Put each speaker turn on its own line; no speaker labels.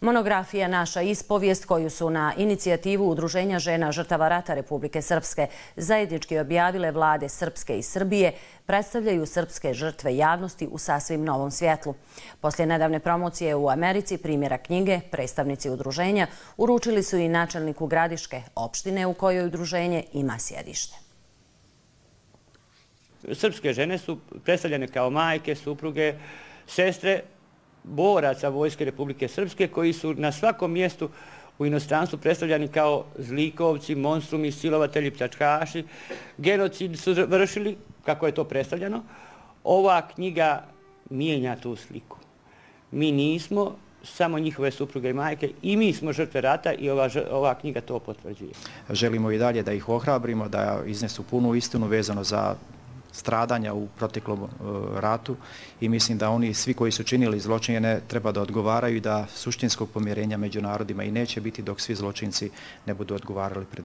Monografija Naša ispovijest, koju su na inicijativu Udruženja žena žrtava rata Republike Srpske zajednički objavile vlade Srpske i Srbije, predstavljaju srpske žrtve javnosti u sasvim novom svjetlu. Poslije nedavne promocije u Americi primjera knjige, predstavnici udruženja uručili su i načelniku Gradiške, opštine u kojoj udruženje ima sjedište.
Srpske žene su predstavljene kao majke, supruge, sestre boraca Vojske Republike Srpske koji su na svakom mjestu u inostranstvu predstavljani kao zlikovci, monstrumi, silovatelji, pljačkaši. Genocid su vršili, kako je to predstavljeno. Ova knjiga mijenja tu sliku. Mi nismo samo njihove supruge i majke, i mi smo žrtve rata i ova knjiga to potvrđuje.
Želimo i dalje da ih ohrabrimo, da iznesu punu istinu vezano za stradanja u proteklom ratu i mislim da oni svi koji su činili zločine treba da odgovaraju i da suštinskog pomirenja među narodima i neće biti dok svi zločinci ne budu odgovarali pred